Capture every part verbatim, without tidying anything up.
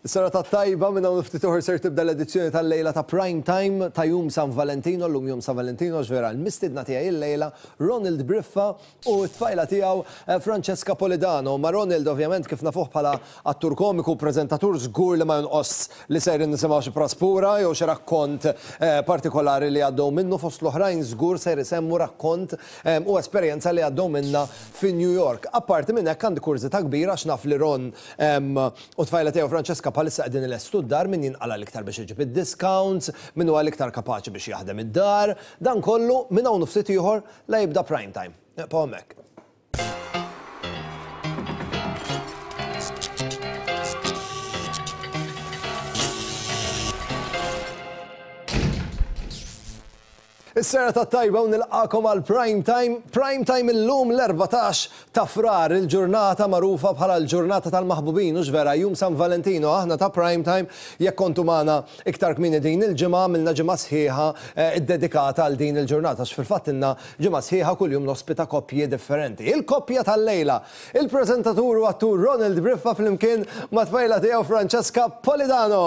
Serata tajba, minn hawn ftit oħra ser tibda l-edizzjoni tal-lejla ta' Prime Time ta' Jum San Valentino, llum Jum San Valentino ġvera l-mistidna tiegħi il-lejla Ronald Briffa u t-tfajla tiegħu eh, Francesca Polidano. Ma Ronald ovvjament kif nafuh bħala attur komiku, preżentatur żgur li ma jonqos li sejrin nisimgħu xi praspura jew xi rakkont eh, partikolari li għaddew minnu fost l-oħrajn żgur ser isemmu rakkont eh, u esperjenza li għaddew minna fi New York. Apparti minn hekk għandi kurżità kbira għax naf li Ron em, u tfajla tiegħu Francesca bħalissa qegħdin ilestu d-dar min jinqala l-iktar biex iġib id-discounts, min huwa l-iktar kapaċi biex jaħdem id-dar, dan kollu minn hawn ftit ieħor la jibda prime time. Ibqgħu hemmhekk. Is-serata tajba u nilqakom għal Prime Time. Prime Time illum l-erbatax ta' Frar, il-ġurnata magħrufa bħala l-ġurnata tal-maħbubin, u vera Jum San Valentino. Aħna ta' Prime Time, jekk kontu magħna iktar kmieni din il-ġimgħa, għamilna ġimgħa sħiħa eh, iddedikata għal din il-ġurnata, għax fil-fatt ilna ġimgħa sħiħa kuljum nospita koppji differenti. Il-koppja tal-lejla, il-preżentatur u attur Ronald Briffa flimkien ma' tfajla tiegħu Francesca Polidano.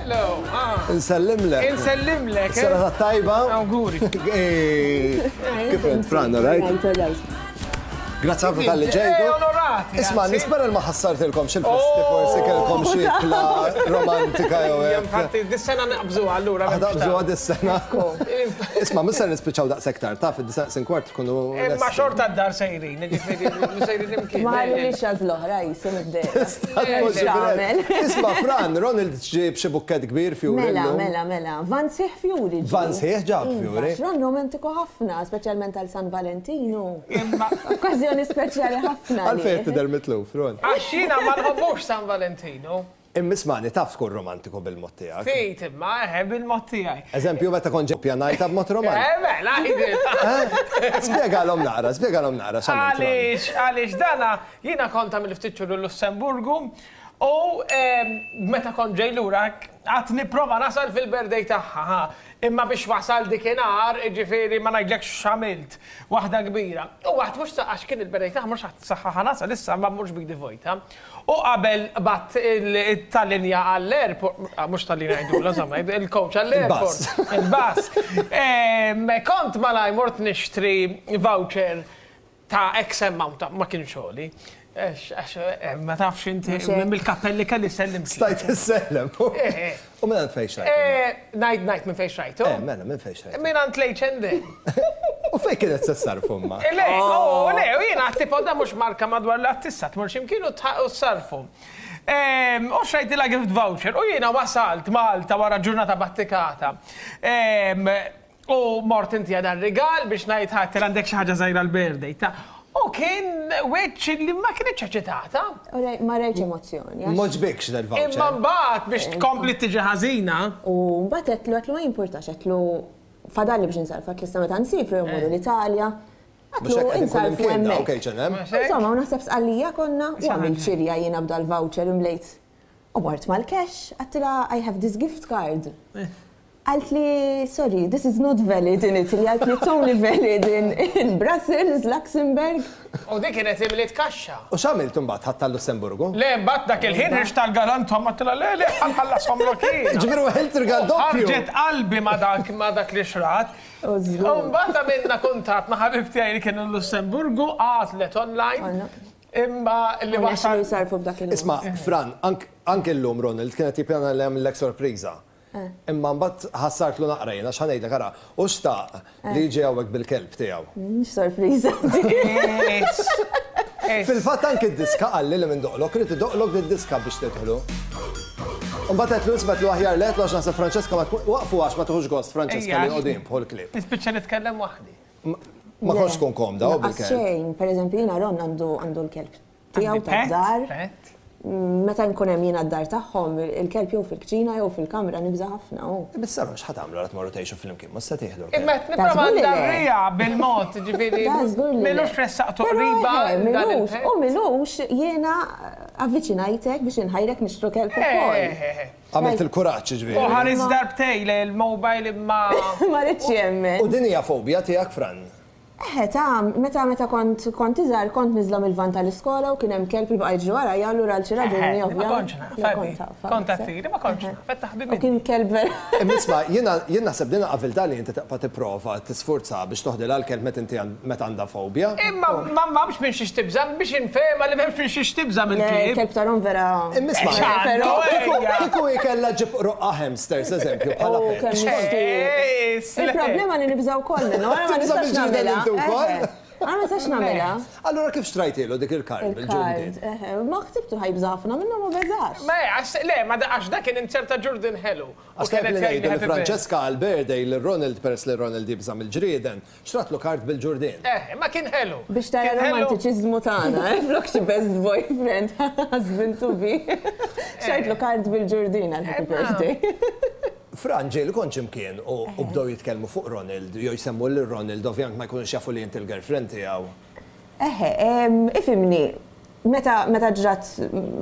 Hello. Ah. Insellimlek. Insellimlek. eh? Serata tajba. Awguri. Eh, Kif int, Fran, right? Grazzi ħafna talli ġejtu. Eh, onorati, Isma, anzi. nispera li ma ħassartilkom xil-festi, forsi kellkom xi ikla romantika jew hekk. Infatti, dis-sena naqbżu allura. Naqbżu għad is-sena. Isma, mhux se nispiċċaw daqshekk tard, taf id-disa' sin kwart tkunu. Imma lesti. xorta d-dar sejrin, ġifieri, sejrin imkien. Ma ħalli li xaz l-oħra jisim id-dera. Possibilment. Isma, Fran, Ronald ġib xi bukket kbir fjuri. Mela, llum. mela, mela. Van sħiħ fjuri. ġie. Van sħiħ ġab Iva, fjuri. Ron romantiku ħafna, speċjalment għal San Valentino. Imma Okkażjoni speċjali ħafna. Għalfejn għalih. tidher mitluf, Ron. għax jiena ma nħobbux San Valentino. Imma ismani, taf tkun romantiku bil-mod tiegħek. Ftit imma, eħe, bil-mod tiegħi. Eżempju, meta kont ġej pjanajta b'mod romantiku. Eh, mela, ħidil. Spjegalhom naqra, spjegalhom naqra x'għamilt. Ron. Għaliex, għaliex dana, jiena kont għamil ftit xhur l-Lussemburgu u em, meta kont ġej lura għad nipprova nasal fil-birthday tagħha. ha. Imma biex wasal dikinhar, ġifieri ma ngħidlekx x'għamilt, waħda kbira. U waħd mhux għax kien il-birthday tagħha mhux ħadd saħħa nasal issa ma mhux big vojta. U qabel bat il-tal-linja għall-airport, ah, mhux tal-linja jgħidula, insomma, il-coach għall-airport. Il-bus. Em, Kont malaj mort nixtri voucher ta' X amount, ta' ma kienx xogħli. Għax, għax, eh, ma tafx inti, Mhux hekk. mill-kappelli kelli sellim. Stajt issellem. Eh, eh. U minn fejn xrajtu? Ngħid ngħid minn fejn xrajtu. Eh, mela, minn fejn xrajtu. Minn għand l-H and M. U fejn kienet se sarfu ma? Le, oh, le, u jiena tipo da mhux marka madwar l-attissa, tmur x'imkien u tħ- u sarfu. Em, U xrajtilha gift voucher, u jiena wasalt Malta wara ġurnata battikata. Em, U mort inti għada rigal biex ngħid ħadd għandek xi ħaġa żgħira l-birthday. ta' U kien wiċċ li ma kienx eċitata. U rej- Ma rejtx emozzjoni. għax- M'għoġbikx del-voucher. Imma mbagħad biex tkompli tiġi ħażina. U mbagħad għedtlu għedtlu ma jimpurtax, għedtlu fadalli biex insarfu, għedtlu issa meta nsifru jew mmorru l-Italja. Mhux Għedtlu hekk qegħdin kull insarfu imkien hemmhekk. ok, H and M. Insomma, u naħseb sqallija konna u għamilt xirja jiena b'da l-voucher imlejt. U mort mal-cash, għedtilha, "I have this gift card." Qaltli, "Sorry, this is not valid in Italy." Qaltli, "It's only valid in, in Brussels, Luxembourg." U dik kienet imliet kaxxa. U x'għamilt imbagħad ħadd tal-Lussemburgu? Le, mbagħad dak il-ħin ħriġt tal-galantom għedtilha, "Le, le, ħa nħallashomlok jien." Ġifieri weħilt rigal doppju. Ħarġet qalbi ma dak ma dak li xrat. U żgur. U mbagħad għamilna kuntatt ma' ħabib tiegħi li kien il-Lussemburgu, għatlet online. Għalna. Imma li U wasal. nexxielu jsarfu b'dak il Isma, Fran, ank- anke llum Ronald kienet jippjana li jagħmellek sorpriża. Imma mbagħad ħassartlu naqra jiena x'ħa ngħidlek ara, u xtaq li jiġi hawnhekk bil-kelb tiegħu. Mhux sorpriża. Es. Es. Fil-fatt anke d-diska qalli li minn doqlok, irid idoqlok d-diska biex tidħlu. Mbagħad qed nisbet lu aħjar let għax naħseb Francesca ma tkun waqfu għax ma tieħux gost Francesca Ejja. li qogħdin bħol klieb. Nispiċċa nitkellem waħdi. Ma kontx tkun komda u Lanqas bil-kelb. xejn, per eżempju, jiena Ron għandu għandu l-kelb tiegħu Għandi pet, tad-dar. pet. Meta nkun hemm jiena d-dar tagħhom, il-kelb jew fil-kċina jew fil-kamra nibża' ħafna. u. Issa x'ħa tagħmlu għal tmorru tgħixu flimkien, ma se tieħdu l-kelb. Imma qed nipprova żgur li le. ndarrija bil-mod, ġifieri. Da żgur li le. M'ilux ressaqtu Però, qriba. eh, dan M'ilux, il-pet. u m'ilux jiena avviċinajtek biex inħajrek nixtru kelb ukoll. Eh, eh, eh. Għamilt il-kuraġġ U ġifieri. ħares darbtej le il-mobile imma. Ma rridx jemmen. U din hija fobja tiegħek, Fran. Eħe, ta' meta meta kont kont iżgħar kont niżla mill-van tal-iskola u kien hemm kelb li baqa' jiġri warajja, allura għal xi raġuni Ma kontx naf, kont għattili, ma kontx naf, qed taħbi U kien kelb vera. Imma jiena jien naħseb din qabilta li inti tibqa' tipprova tisforza biex toħdilha l-kelb meta inti meta għandha fobja. Imma ma m'hemmx minn xiex tibża' biex infehma li m'hemmx minn xiex tibża' mill-klieb. Kelb ta' Ron vera. Imma isma' kieku jkella ġib roqqa hamsters, eżempju, bħala pet. Il-problema li nibża' wkoll minnu, ma nistax nagħmilha. Għana ma nistax nagħmilha. Allura kif xtrajtilu dik il-card bil-ġurdin? Ma ħsibtu ħajbża ħafna minnu ma beżax. Ma le, ma għax dak kien inzerta ġurdin ħelu. Għax kien li ngħidu li Francesca għal-birthday li Ronald peress li Ronald jibża' mill-ġrieden, xtratlu card bil-ġurdin. Eh, ma kien ħelu. Biex tara romantiċiżmu tagħna, flok xi best boyfriend, husband to be. Xtrajtlu card bil-ġurdin għal happy birthday. Fran, ġieli kont x'imkien u bdew jitkellmu fuq Ronald, jew jsemmu lil Ronald, ovvjament ma jkunux jafu li inti l-girlfriend tiegħu. Eħe, ifhimni, meta meta ġrat,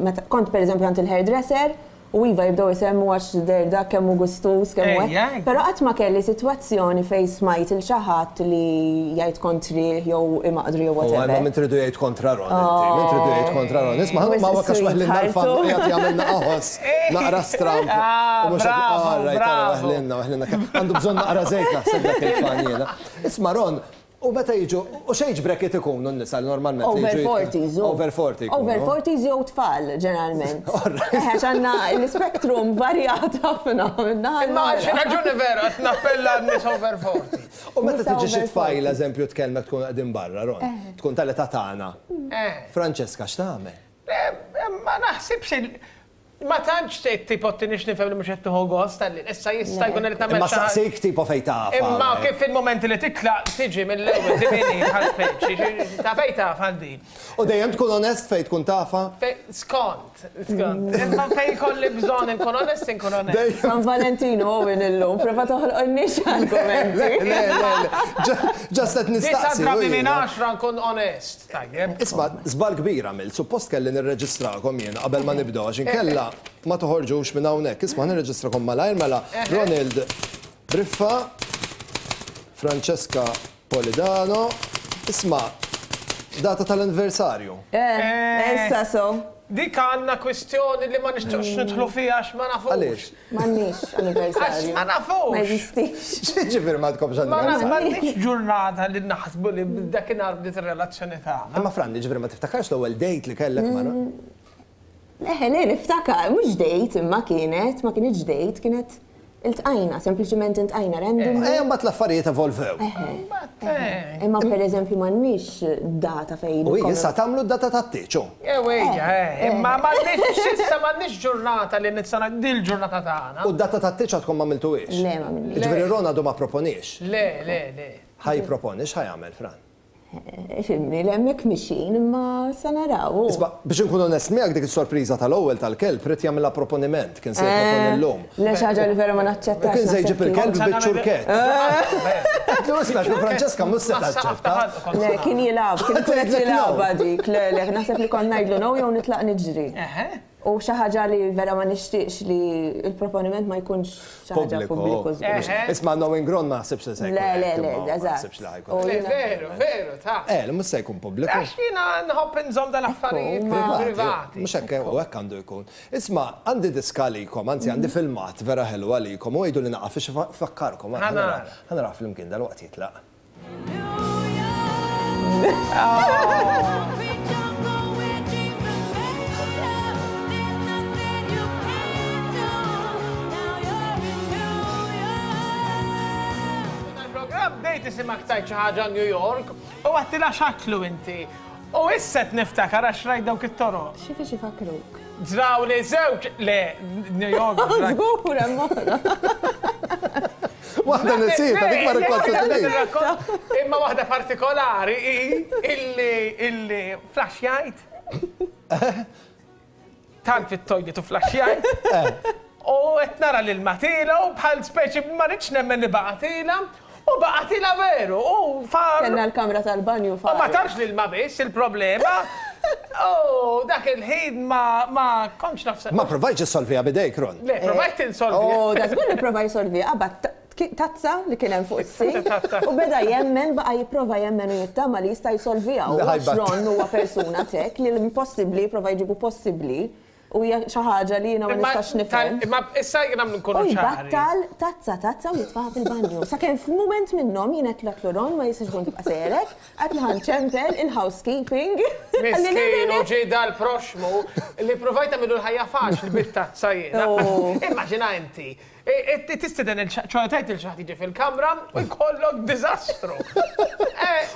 meta kont pereżempju għand il-hairdresser, u iva jibdew isemmu għax der dak kemm hu gustus, kemm hu hekk. Però qatt ma kelli sitwazzjoni fejn smajt il xi ħadd li jgħid kontri jew imaqdru jew whatever. Ma min tridu jgħid kontra Ron, inti, min tridu jgħid kontra Ron. Isma' ma wakax weħlinna l-fan qiegħed jagħmilna qaħos, naqra stramp. U mhux weħlinna, weħlinna. Għandu bżonn naqra żejt naħseb dak il-fan jiena. Isma' Ron, u meta jiġu, u x'age bracket ikunu n-nisa normalment? Over forties. Over forty. Over forties jew tfal, ġeneralment. Għax għandna l-spektrum varjat ħafna minna. Imma għal xi raġuni vera qed nappella n-nies over forty. U meta tiġi xi tfajla, eżempju, tkellmek tkun qegħdin barra, Ron, tkun tal-età tagħna. Francesca, x'tagħmel? Ma naħsibx ma tantx tipo tinix nifhem li mhux qed tieħu gost tal-li issa jista' jkun li tagħmel. Imma saqsejk tipo fejn taf. Imma kif fil-momenti li titlaq tiġi mill-ewwel timini bħal speċi ta' fejn taf għal din. U dejjem tkun onest fejn tkun tafa? Skont, skont. Imma fejn kolli bżonn inkun onest inkun onest. San Valentino Owen illum, prova toħloqniex argumenti. Le, le, le. Ġast qed nistaqsi. Disa' drabi minn għaxra nkun onest. Tajjeb. Isma' żball kbir għamilt, suppost kelli nirreġistrakom jiena qabel ma nibdew għax inkella ma toħorġux minn hawnhekk. Isma' nirreġistrakom malajr mela Ronald Briffa, Francesca Polidano. Isma' data tal-anniversarju. Eh, issa so. Dik għandna kwistjoni li ma nixtieqx nidħlu fiha għax ma nafux. Għaliex? M'għandniex anniversarju. Għax ma nafux. Ma jeżistix. X'jiġifieri ma tkomx anniversarju? M'għandniex ġurnata li naħsbu li dakinhar bdiet ir-relazzjoni tagħna. Imma Fran, jiġifieri ma tiftakarx l-ewwel date li kellek ma' Eħe, le, niftakar, mhux date imma kienet, ma kienx date, kienet iltqajna, sempliċement iltqajna random. Eh, mbagħad l-affarijiet evolvew. Eħe. Imma pereżempju m'għandniex data fejn. U issa tagħmlu d-data tat-tieġ. Ewwejja, imma m'għandniex issa m'għandniex ġurnata li nista' dil ġurnata tagħna. U d-data tat-tieġ għadkom m'għamiltuhiex? Le, ma għamilniex. Jiġifieri Ron għadu ma proponiex? Le, le, le. Ħa jipproponi, x'ħa jagħmel, Fran? Ifhimni, li hemmhekk mixin, imma sa naraw. Isma', biex inkun onest miegħek dik is-sorpriża tal-ewwel tal-kelb rid jagħmilha proponiment, kien se jipproponi llum. Le xi ħaġa li vera ma naċċettax. Kien se jġib il-kelb biċ-ċurkett. Għedtlu isma' xi Francesca mhux se taċċetta. Le, kien jilgħab, kien ikun qed jilgħabha dik, le, le, naħseb li kont ngħidlu no jew nitlaq niġri. U xi ħaġa li vera ma nixtieqx li l-proponiment ma jkunx xi ħaġa pubbliku. Isma' knowing Ron ma naħsibx li se jkun. Le, le, le, eżatt. Veru, veru, ta' Eh, mhux se jkun pubbliku. Għax jiena nħobb inżomm dal-affarijiet privati. Mhux hekk u hekk għandu jkun. Isma' għandi diska għalikom, anzi għandi filmat vera ħelu għalikom u għidu li naqaf biex fakkarkom. Ħa nara flimkien dal-waqt jitlaq. Bdejt isimak tajt xi ħaġa New York u għattilha x'aklu inti. U issa qed niftakar għax rajt dawk it-toroq. Xi fiex ifakruk? Ġraw li żewġ le New York. Żgur hemm oħra. Waħda nisita, dik ma rikkontu. Imma waħda partikolari hi illi illi flaxjajt. Tant fit-toilet u flaxjajt. U qed nara lil Matila u bħal speċi ma rridx nemmen li baqgħatilha. U baqgħatilha veru, u far. Kellna l-kamra tal-banju far. U ma tarx lil ma biss il-problema. U dak il-ħin ma kontx nafsa. Ma provajtx issolviha bidejk, Ron. Le, provajt insolviha. Oh, da żgur li provajt insolviha, but tazza li kien hemm fuq is-sink u beda jemmen, baqa' jipprova jemmen u jittama li jista' jsolviha. U għax Ron huwa persuna tek li l-impossibbli jipprova jġibu possibbli u hija xi ħaġa li jiena ma nistax nifhem. Imma issa jiena nkunu ċari. U jbattal tazza tazza u jitfaħa fil-banju. Sakemm f'mument minnhom jien qed tlaqlu Ron ma jistax ikun tibqa' sejrek, qed li ħanċempel il-housekeeping. Miskin u ġie dal-proxmu li provajt nagħmlu l-ħajja faċli bit-tazza jiena. Immaġina inti. Tistiden il-ċoħtajt il-xaħt jiġi fil-kamra u jkollok diżastru.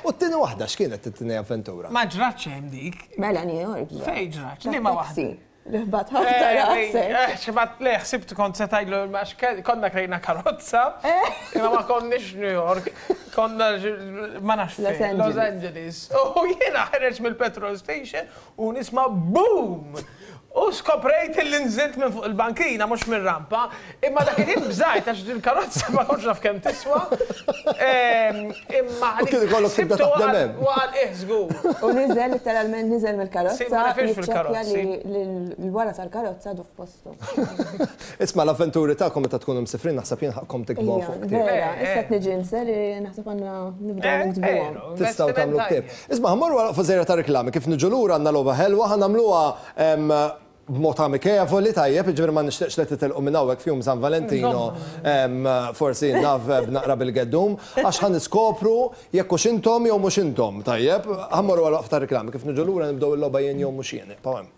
U t-tieni waħda x'kienet it-tieni avventura? Ma ġratx hemm dik. Mela New York. Fejn ġratx? Liema waħda? Li ħbat ħafna rasek. Xbat le, ħsibt kont se tgħidlu konna krejna karozza, imma ma konniex New York, konna ma nafx fejn, Los Angeles. U jiena ħareġ mill-petrol station u nisma' boom! U skoprejt li nżilt minn fuq il-bankina, mhux mir-rampa, imma dak il-ħin bżajt għax il-karozza ma kontx naf kemm tiswa. Imma U kien ikollok tibda taħdem hemm. Waqal eh żgur. U niżel literalment niżel mill-karozza. Ma nafx fil-karozzi. Li l-wara tal-karozza għadu f'postu. Isma' l-avventuri tagħkom meta tkunu msifrin naħseb jien ħaqkom tikbuhom fuq ktieb. Vera, issa qed niġi nser naħseb għandna nibdew niktbuhom. Tistgħu tagħmlu ktieb. Isma' ħammorru wara fuq żejra ta' reklami kif niġu lura għandna logħba ħelwa ħa nagħmluha b'mod amikevoli tajjeb, jiġifieri ma nixtieqx li titilqu minn hawnhekk f'jum San Valentino, forsi naf b'naqra bil-geddum, għax ħa niskopru jekk hux intom jew mhux intom, tajjeb, ħa mmorru għal waqf ta' reklami kif niġu lura nibdew il-logħba jien jew mhux jien. Ibqgħu hemm.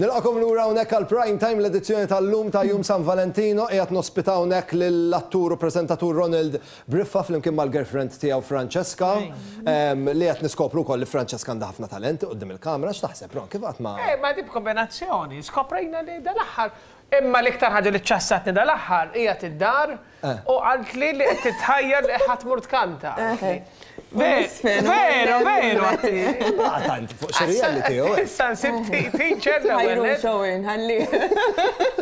Nilqakom lura hawnhekk għal Prime Time l-edizzjoni tal-lum ta' Jum San Valentino qiegħed nospita hawnhekk lill-attur u preżentatur Ronald Briffa flimkien mal-girlfriend tiegħu Francesca li qed niskopru wkoll li Francesca għandha ħafna talent quddiem il-kamra. X'taħseb Ron, kif qatt ma Eh, ma di b'kombinazzjoni, skoprejna li dal-aħħar imma l-iktar ħaġa li ċassatni dal-aħħar hija tid-dar u qaltli li qed titħajjar li ħadd mur tkanta. Veru, veru, għatti. Baqa tant fuq xi reality jew. Issa nsib teacher l-ewwel. Showing, ħalli.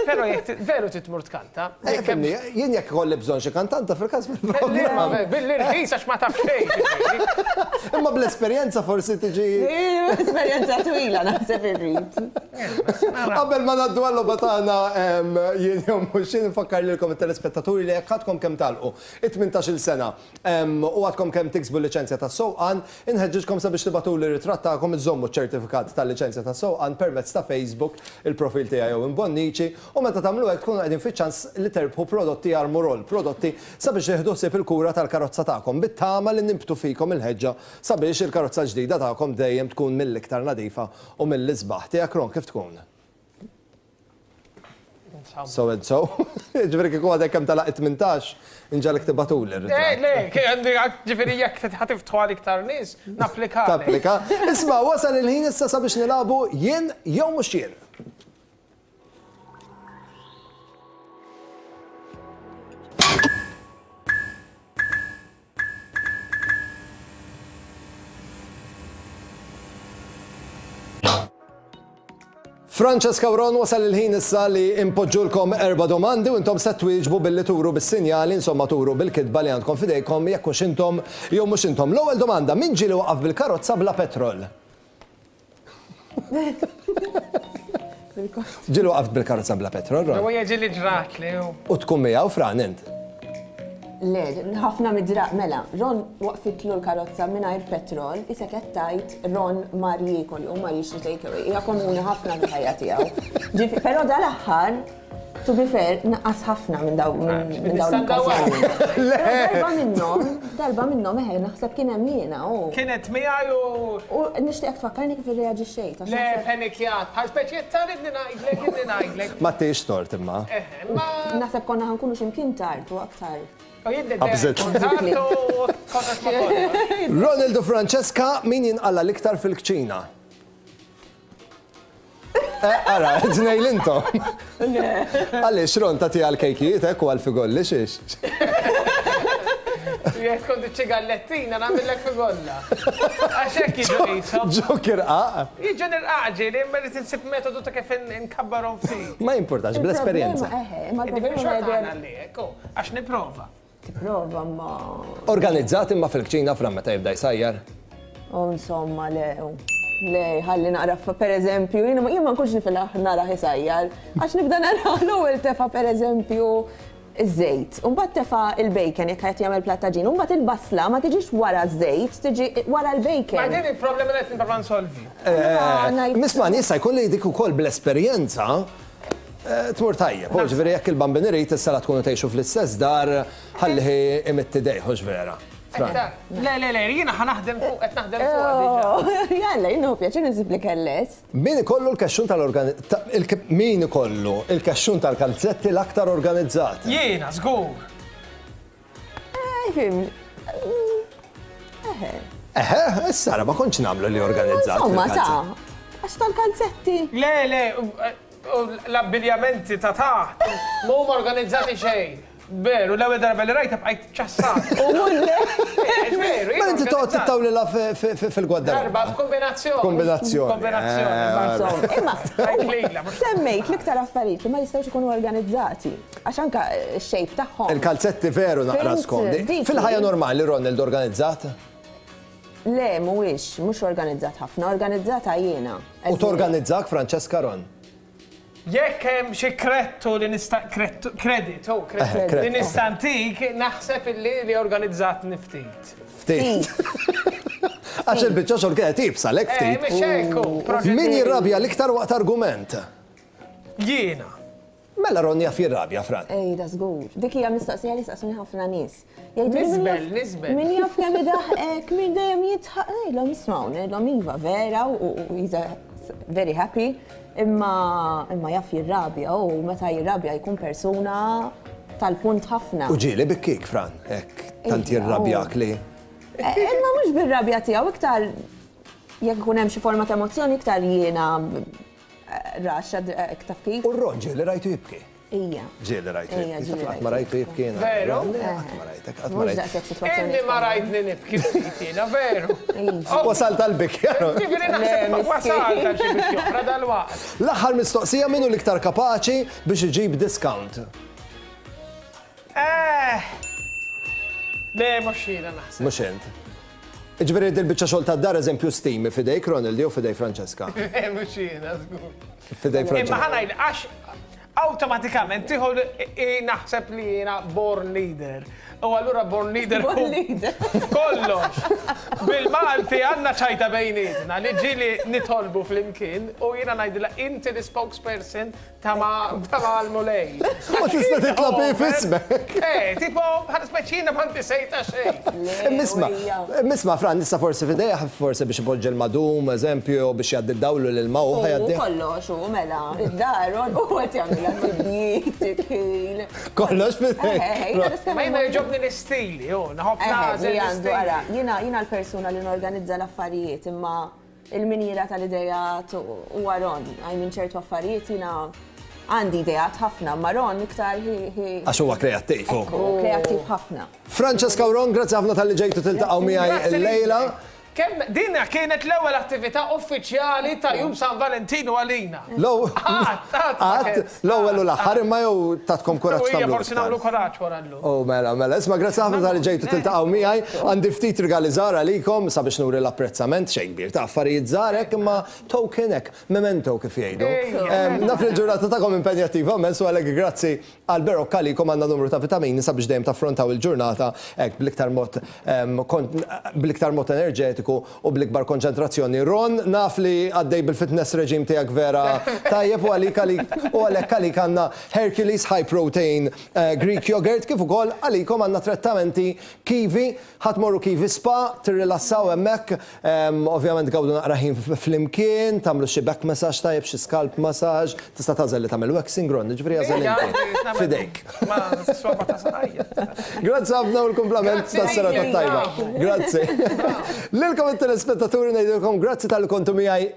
Però jekk veru titmur tkanta. Fimni, jien jekk ikolli bżonn xi kantanta fil-każ fil-programm. Billi rħis għax ma taf xejn. Imma bl-esperjenza forsi tiġi. Esperjenza twila naħseb irrid. Qabel ma ngħaddu għal-logħba tagħna jien jew mhux jien nfakkar lilkom it-telespettaturi li jekk għadkom kemm tagħlqu it-tmintax-il sena u għadkom kemm tiksbu liċenzja tas-sewqan, inħeġġiġkom sabiex tibgħatuli ritratt tagħkom iżommu ċ-ċertifikat tal-liċenzja tas-sewqan permezz ta' Facebook, il-profil tiegħi jew Bonnici, u meta tagħmlu hekk tkunu qegħdin fiċ-ċans li terbħu prodotti Armorol, prodotti sabiex jieħdu ħsieb il-kura tal-karozza tagħkom bit-tama li nimbtu fikom il-ħeġġa sabiex il-karozza ġdida tagħkom dejjem tkun mill-iktar nadifa u mill-isbaħ. Tiegħek Ron kif tkun? So and so. Ġifieri kieku għadek kemm talaq it-tmintax, inġalek tibatuli r-ritratt. Le, ġifieri jekk ħatiftħu għal iktar nies, napplika. Tapplika. Isma' wasal il-ħin issa sabiex nilagħbu jien jew mhux jien. Francesca u Ron, wasal il-ħin issa li impoġġulkom erba' domandi u intom se twieġbu billi turu bis-sinjali, insomma turu bil-kitba li għandkom fidejkom jekk hux intom jew mhux intom. L-ewwel domanda, min ġieli waqaf bil-karozza bla petrol? Ġieli waqaf bil-karozza bla petrol, Ron? Huwa ġieli ġrat li. U tkun miegħu Fran int? Le, ħafna mid-draq, mela, Ron waqfitlu l-karozza mingħajr petrol, issa qed tgħid Ron mar jiekol u mar jixtri take away. Hija komuni ħafna fil-ħajja tiegħu. Però dal-aħħar, to be fair, naqqas ħafna minn dawn minn dawn l-okkażjonijiet. Darba minnhom, darba minnhom eħe naħseb kien hemm jiena u. Kienet miegħi u. U nixtieq tfakkarni kif irreaġixxejt. Le, panikjat, bħal speċi taridni ngħidlek, inni ngħidlek. Ma tiex tort imma. Naħseb konna ħankunu x'imkien tard u aktar. Ronald u Francesca, min jinqalla l-iktar fil-kċina? Ara, tnejn intom. Għaliex Ron tagħti għal-kejkijiet hekk u għal-figolli xiex? Jekk tkun ċigallettina nagħmillek figolla. Għax hekk jiġu qishom. Ġok irqaq. Jiġu nirqaq ġieli, imma rrid insib metodu ta' kif inkabbarhom ftit. Ma jimpurtax, bl-esperjenza. Imma l-problema għax nipprova. Tipprova ma. Organizzat imma fil-kċina Fran meta jibda jsajjar? U insomma, le, le, ħalli naqra, per eżempju, jiena ma nkunx nifilha nara isajjar, għax nibda nara l-ewwel tefa' per eżempju iż-żejt, u mbagħad tefa' il-bacon jekk qed jagħmel platt għaġin, u mbagħad il-basla ma tiġix wara ż-żejt, tiġi wara l-bacon. Ma din il-problema li qed nipprova nsolvi. Misman, jista' jkun li dik ukoll bl-esperjenza tmur tajjeb, ġifieri jekk il-bambin irid issa la tkunu tgħixu fl-istess dar, ħalli imitti dejh, hux vera. Le, le, le, jiena ħa naħdem fuq, qed naħdem fuq diġà. Jalla, jien pjaċir insib li kellest. Min ikollu l-kexxun tal-organi... Min ikollu il-kexxun tal-kalzetti l-aktar organizzat? Jiena, żgur. Eħe. Eħe, issa ma kontx nagħmlu li organizzat. Insomma, ta' għax tal-kalzetti. Le, le, l-abbiljamenti ta' taħt, ma huma organizzati xejn. Veru, l-ewwel darba li rajta bqajt ċassat. U mulle. Veru. Ma inti toqgħod tittawlilha fil-gwadda. Darba kombinazzjoni. Kombinazzjoni. Kombinazzjoni. Imma semmejt l-iktar affarijiet li ma jistgħux ikunu organizzati. Għax anke x-shape tagħhom. Il-kalzetti veru naqra skomdi. Fil-ħajja normali Ronald organizzat? Le, mhuwiex, mhux organizzat ħafna, organizzata jiena. U torganizzak Francesca Ron? Jekk hemm xi krettu li nista' kreditu, li nista' ntik, naħseb illi li organizzatni ftit. Ftit. Għax il-biċċa xogħol kienet iebsa lek ftit. Min jirrabja l-iktar waqt argument? Jiena. Mela Ron jaf jirrabja, Fran. Ej, da żgur. Dik hija mistoqsija li saqsuni ħafna nies. Nisbel, nisbel. Min jaf kemm idaħqek, min dejjem jitħaq, ngħidlhom ismgħu, ngħidlhom iva vera u he's very happy. Imma imma jaf jirrabja u meta jirrabja jkun persuna tal-punt ħafna. U ġieli bikkik, Fran, hekk tant jirrabjak li. Imma mhux bir-rabja tiegħu iktar jekk ikun hemm xi forma ta' emozzjoni iktar jiena raxxa taf kif. U Ron ġieli rajtu jibki. Ija. Ġieli rajtu jibki. Qatt ma rajtu jibki jiena. Veru? Qatt ma rajtek, qatt ma rajtek. Inni ma rajtni nibki ftit jiena, veru. Wasal tal-bikja. Ġifieri naħseb wasal tal xi bikja oħra dal-waqt. L-aħħar mistoqsija min hu l-iktar kapaċi biex iġib discount? Eh. Le, mhux jiena naħseb. Mhux int. Ġifieri dil-biċċa xogħol tad-dar eżempju stimi f'idejk Ronald jew f'idej Francesca? Mhux jiena żgur. F'idej Francesca. Imma ħa ngħid għax awtomatikament tieħu naħseb li jiena born leader. U allura born leader. Born leader. Kollox. Bil-Malti għandna ċajta bejnietna li ġieli nitolbu flimkien u jiena ngħidilha inti l-spokesperson ta' mal-Mulej. Ma tista' titlob f'ismek. Eh, tipo, bħal speċina ma inti sejta xejn. Misma, misma Fran, issa forsi f'idejha forsi biex ipoġġi l-madum, eżempju, biex jgħaddi d-dawlu lil ma u ħajgħaddi. Kollox u mela, id-dar u qed jagħmilha tibjid, tikħil. Kollox f'idejk. Ma jiena jogħġobni l-istili, u naħobb nagħżel. Jiena jiena l-persuna li norganizza l-affarijiet, imma il-minjera tal-idejat u Ron, għaj minn ċertu affarijiet jiena għandi idejat ħafna, ma Ron iktar Għax huwa kreattiv. Kreattiv ħafna. Francesca u Ron, grazzi ħafna talli ġejtu tiltaqgħu miegħi llejla. Kemm dinna kienet l-ewwel attività uffiċjali ta' Jum San Valentino għalina. Qatt, l-ewwel u l-aħħar imma jew tatkom kuraġġ tagħmlu. Forsi nagħmlu kuraġġ wara llum. Oh mela, mela, isma' grazzi ħafna talli ġejtu tiltaqgħu miegħi. Għandi ftit rigali żgħar għalikom sabiex nuri l-apprezzament xejn kbir ta' affarijiet żgħar hekk imma token hekk, memento kif jgħidu. Naf li l-ġurnata tagħkom impenjattiva immens u għalhekk grazzi għal Berocca għalikom għandna numru ta' vitamini sabiex dejjem taffrontaw il-ġurnata hekk bl-iktar mod bl-iktar mod enerġetiku u bl-ikbar konċentrazzjoni. Ron, naf li għaddej bil-fitness reġim tiegħek vera tajjeb u għalik u għalhekk għalik għandna Hercules High Protein Greek Yogurt kif ukoll għalikom għandna trattamenti Kiwi, ħadd morru Kiwi Spa, tirrilassaw hemmhekk, ovvjament gawdu naqra ħin flimkien, tagħmlu xi back massage tajjeb, xi scalp massage, tista' tagħżel li tagħmel waxing Ron, jiġifieri għażel inti. Fidejk. Ma swaba ta' saqajja. Grazzi ħafna u l-kumplament tas-serata tajba. Grazzi. Lilkom it-telespettaturi ngħidilkom grazzi tal-li kontu miegħi.